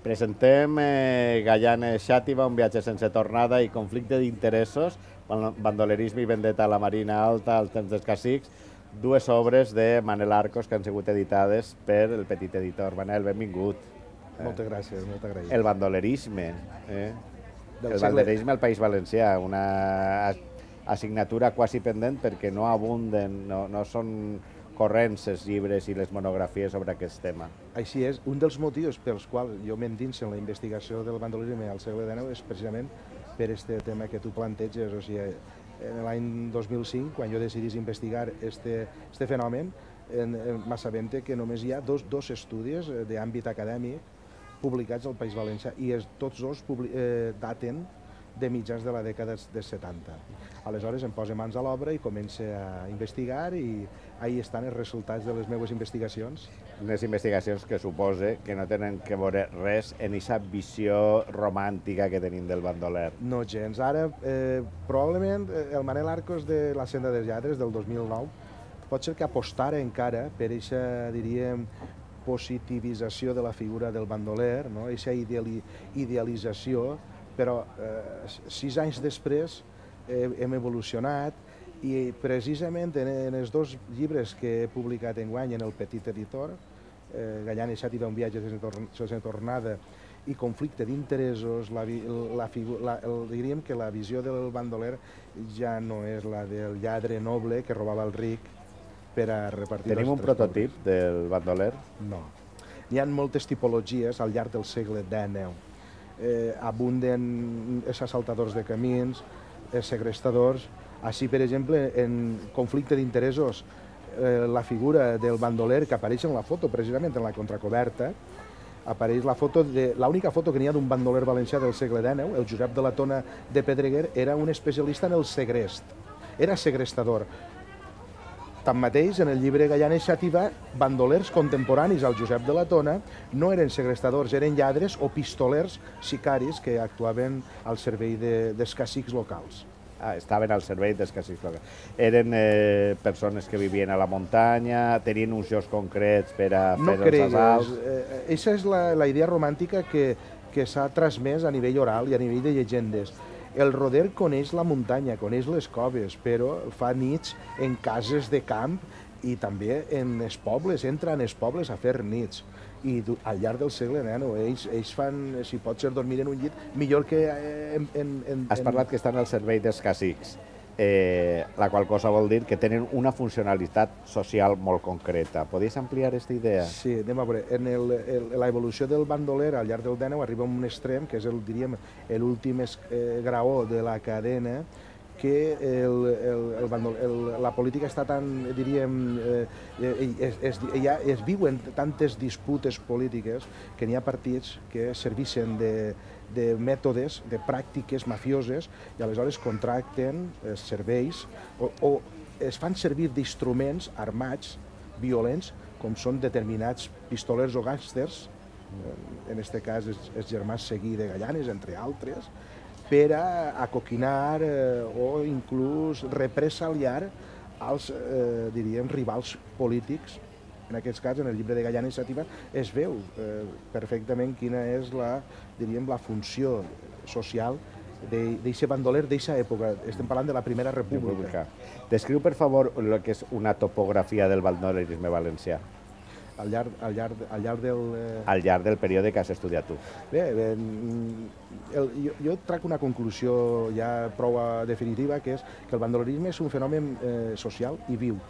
Presentem Gaianes Xàtiva, un viatge sense tornada i conflicte d'interessos, bandolerisme i vendetta a la Marina Alta, al temps dels cacics, dues obres de Manel Arcos que han sigut editades per el petit editor. Manel, benvingut. Moltes gràcies, molt agraït. El bandolerisme, Del el segle- bandolerisme al País Valencià, una assignatura quasi pendent perquè no abunden, no són corrents els llibres i les monografies sobre aquest tema. Així és, un dels motius pels quals jo m'endinso en la investigació del bandolerisme al segle XIX és precisament per aquest tema que tu planteges. O sigui, en l'any 2005, quan jo decidís investigar este fenomen, m'assabente que només hi ha dos estudis d'àmbit acadèmic publicats al País Valencià i tots dos daten de mitjans de la dècada dels 70. Aleshores em poso mans a l'obra i començo a investigar i ahí estan els resultats de les meves investigacions. Unes investigacions que supose que no tenen que veure res en aquesta visió romàntica que tenim del bandoler. No gens. Ara, probablement, el Manel Arcos de La senda dels lladres, del 2009, pot ser que apostara encara per aquesta, diríem, positivització de la figura del bandoler, no? Aquesta idealització, però 6 anys després hem evolucionat i precisament en els dos llibres que he publicat enguany en el petit editor, Gaianes Xàtiva, un viatge sense tornada i conflicte d'interessos, diríem que la visió del bandoler ja no és la del lladre noble que robava el ric per a repartir... Tenim un prototip del bandoler? No. N'hi ha moltes tipologies al llarg del segle XIX. Abunden els assaltadors de camins, els segrestadors. Així, per exemple, en conflicte d'interessos, la figura del bandoler que apareix en la foto, precisament en la contracoberta, apareix la foto l'única foto que n'hi ha d'un bandoler valencià del segle XIX, el Josep de la Tona de Pedreguer, era un especialista en el segrest, era segrestador. Tanmateix, en el llibre Gaianes Xàtiva, bandolers contemporanis al Josep de la Tona no eren segrestadors, eren lladres o pistolers sicaris que actuaven al servei dels cacics locals. Estaven al servei dels cacics locals. Eren persones que vivien a la muntanya, tenien uns jocs concrets per a fer els assalts... Aquesta és la idea romàntica que s'ha transmès a nivell oral i a nivell de llegendes. El roder coneix la muntanya, coneix les coves, però fa nits en cases de camp i també en els pobles, entra en els pobles a fer nits. I al llarg del segle XIX ells fan, si pot ser dormir en un llit, millor que... Has parlat que estan al servei dels cacics, la qual cosa vol dir que tenen una funcionalitat social molt concreta. Podries ampliar aquesta idea? Sí, anem a veure. En l'evolució del bandoler al llarg del XIX arriba a un extrem, que és diríem, l'últim graó de la cadena, que la política està tan, diríem, es viuen tantes disputes polítiques que n'hi ha partits que serveixen de mètodes, de pràctiques mafioses i aleshores contracten serveis o es fan servir d'instruments armats, violents, com són determinats pistolers o gàngsters, en aquest cas els germans Seguí de Gaianes, entre altres, per a acoquinar o inclús represaliar els, diríem, rivals polítics. En aquest cas, en el llibre de Gaianes Xàtiva, es veu perfectament quina és diríem, la funció social d'aquest bandoler d'aquesta època. Estem parlant de la Primera República. Descriu, per favor, el que és una topografia del bandolerisme valencià. Al llarg del període que has estudiat tu. Bé, jo trac una conclusió ja prou definitiva, que és que el bandolerisme és un fenomen social i viu.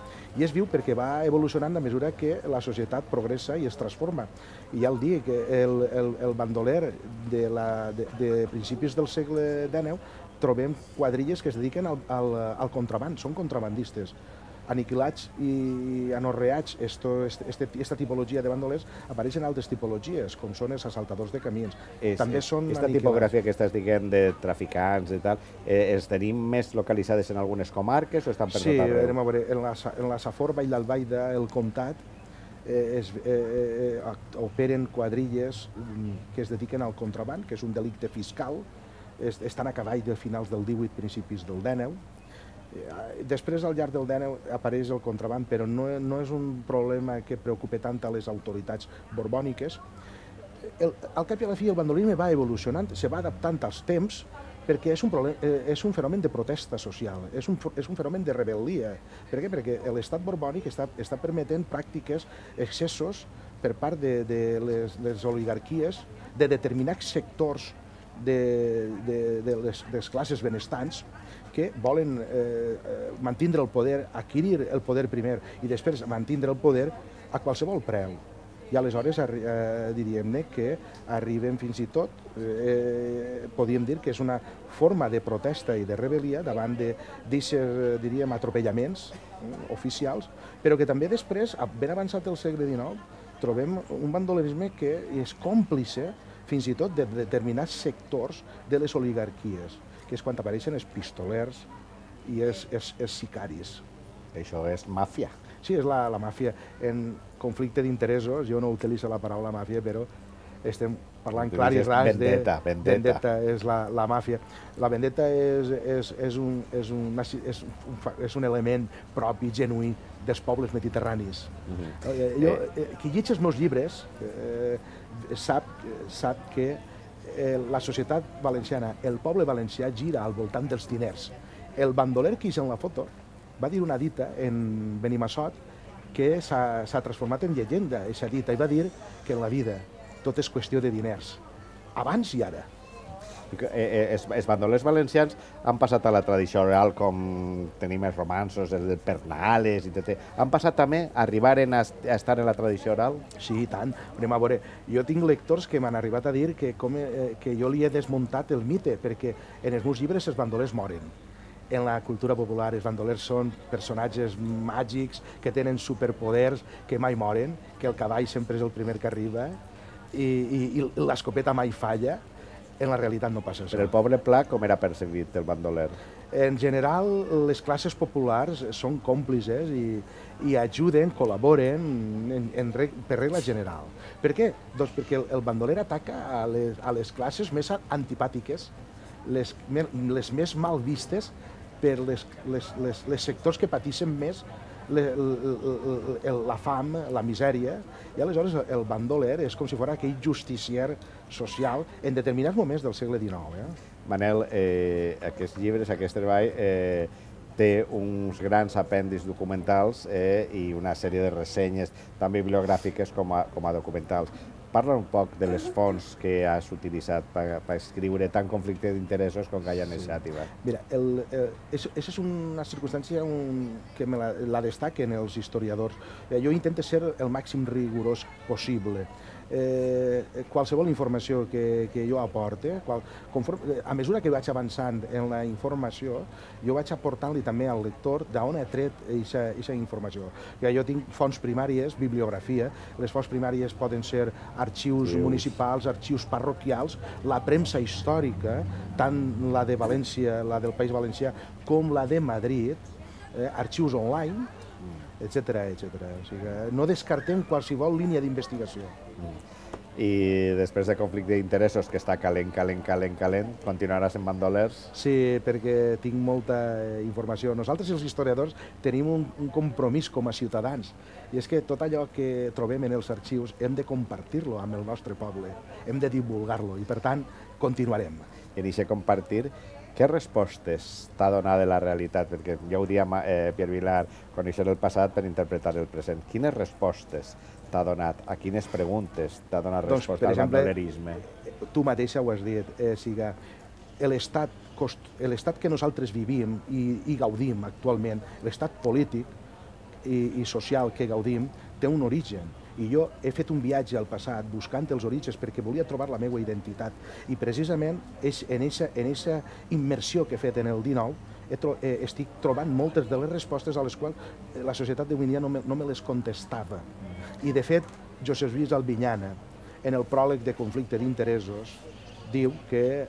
I és viu perquè va evolucionant a mesura que la societat progressa i es transforma. I ja el dic, el bandoler de principis del segle XIX trobem quadrilles que es dediquen al contraband, són contrabandistes. Aniquilats i anorreats, aquesta tipologia de bandolers apareixen altres tipologies, com són els assaltadors de camins. També són aquesta tipografia que estàs dient de traficants i tal, els tenim més localitzades en algunes comarques o estan per tot arreu? Sí, anem a veure, en la Safor, Vall d'Albaida, el Comtat, operen quadrilles que es dediquen al contraband, que és un delicte fiscal, estan a cavall de finals del 18, principis del 19. Després, al llarg del XIX, apareix el contraband, però no és un problema que preocupa tant a les autoritats borbòniques. al cap i a la fi el bandolerisme va evolucionant, se va adaptant als temps, perquè és un fenomen de protesta social, és un fenomen de rebel·lia. Per què? Perquè l'estat borbònic està permetent pràctiques, excessos per part de les oligarquies, de determinats sectors de les classes benestants que volen mantindre el poder, adquirir el poder primer i després mantindre el poder a qualsevol preu. I aleshores diríem que arribem fins i tot, podríem dir que és una forma de protesta i de rebel·lia davant d'aquests, diríem, atropellaments oficials, però que també després, ben avançat el segle XIX, trobem un bandolerisme que és còmplice fins i tot de determinats sectors de les oligarquies, que és quan apareixen els pistolers i els sicaris. Això és màfia. Sí, és la màfia. En conflicte d'interessos, jo no utilitzo la paraula màfia, però estem parlant clar i ras de... Vendetta és la màfia. La vendetta és un element propi, genuí, dels pobles mediterranis. Qui llegeix els meus llibres sap que la societat valenciana, el poble valencià, gira al voltant dels diners. El bandoler que és en la foto va dir una dita en Benimassot que s'ha transformat en llegenda, aquesta dita, i va dir que en la vida tot és qüestió de diners, abans i ara. Els bandolers valencians han passat a la tradició oral, com tenim els romanços, el Pernales, han passat també a arribar a estar en la tradició oral? Sí, i tant. Anem a veure, jo tinc lectors que m'han arribat a dir que jo li he desmuntat el mite, perquè en els meus llibres els bandolers moren. En la cultura popular els bandolers són personatges màgics que tenen superpoders, que mai moren, que el cavall sempre és el primer que arriba i l'escopeta mai falla. En la realitat no passa això. Per el poble pla, com era percebit el bandoler? En general, les classes populars són còmplices i ajuden, col·laboren per regla general. Per què? Doncs perquè el bandoler ataca a les classes més antipàtiques, les més mal vistes per les sectors que pateixen més la fam, la misèria, i aleshores el bandoler és com si fos aquell justicier social en determinats moments del segle XIX. Manel, aquests llibres, aquest treball, té uns grans apèndixs documentals i una sèrie de ressenyes tant bibliogràfiques com a documentals. Parla un poc de les fonts que has utilitzat per escriure tant conflicte d'interessos com Gallanes Xàtiva. Mira, aquesta és una circumstància que la destaquen els historiadors. Jo intento ser el màxim rigorós possible. Qualsevol informació que jo aporte, a mesura que vaig avançant en la informació, jo vaig aportant-li també al lector d'on he tret aquesta informació. Jo tinc fonts primàries, bibliografia, les fonts primàries poden ser arxius municipals, arxius parroquials, la premsa històrica, tant la de València, la del País Valencià, com la de Madrid, arxius online, etcètera. O sigui, no descartem qualsevol línia d'investigació. I després de conflicte d'interessos, que està calent, continuaràs en bandolers? Sí, perquè tinc molta informació. Nosaltres, els historiadors, tenim un compromís com a ciutadans, i és que tot allò que trobem en els arxius hem de compartir-lo amb el nostre poble, hem de divulgar-lo, i per tant, continuarem. I en aquest compartir, què respostes t'ha donat de la realitat? Perquè ja ho dia Pierre Vilar, conèixer el passat per interpretar el present. Quines respostes t'ha donat? A quines preguntes t'ha donat resposta al bandolerisme? Tu mateixa ho has dit, l'estat que nosaltres vivim i gaudim actualment, l'estat polític i social que gaudim, té un origen. I jo he fet un viatge al passat buscant els orígens perquè volia trobar la meva identitat. I precisament en aquesta immersió que he fet en el XIX estic trobant moltes de les respostes a les quals la societat d'avui dia no me les contestava. I de fet, Josep Lluís Albinyana, en el pròleg de conflicte d'interessos, diu que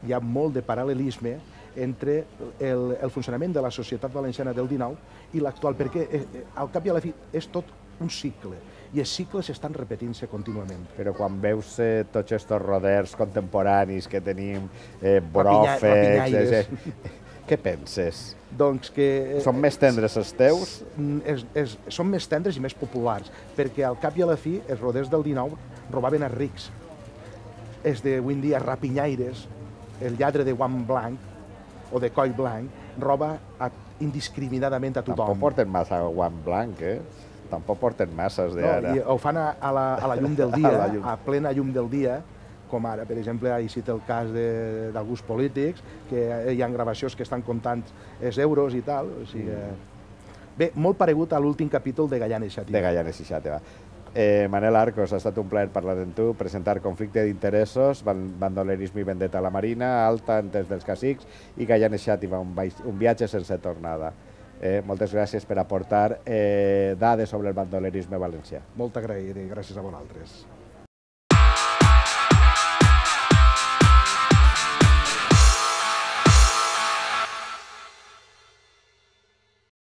hi ha molt de paral·lelisme entre el funcionament de la societat valenciana del XIX i l'actual, perquè al cap i a la fi és tot un cicle, i els cicles estan repetint-se contínuament. Però quan veus tots aquests roders contemporanis que tenim, bròfecs, què penses? Doncs que... Són més tendres els teus? Són més tendres i més populars, perquè al cap i a la fi els roders del XIX robaven els rics. És d'avui en dia rapinyaires, el lladre de guant blanc o de coll blanc, roba indiscriminadament a tothom. Tampoc porten massa guant blanc, Tampoc porten masses d'ara. No, i ho fan a la llum del dia, a plena llum del dia, com ara, per exemple, ha cit el cas d'alguns polítics, que hi ha gravacions que estan comptant els euros i tal. O sigui, bé, molt paregut a l'últim capítol de Gaianes i Xàtiva. De Gaianes i Xàtiva. Manel Arcos, ha estat un plaer parlar amb tu, presentar Conflicte d'interessos, bandolerisme i vendetta a la Marina, Alta, Entes dels Cacics i Gaianes i Xàtiva, un viatge sense tornada. Moltes gràcies per aportar dades sobre el bandolerisme valencià. Molt agraït i gràcies a vosaltres.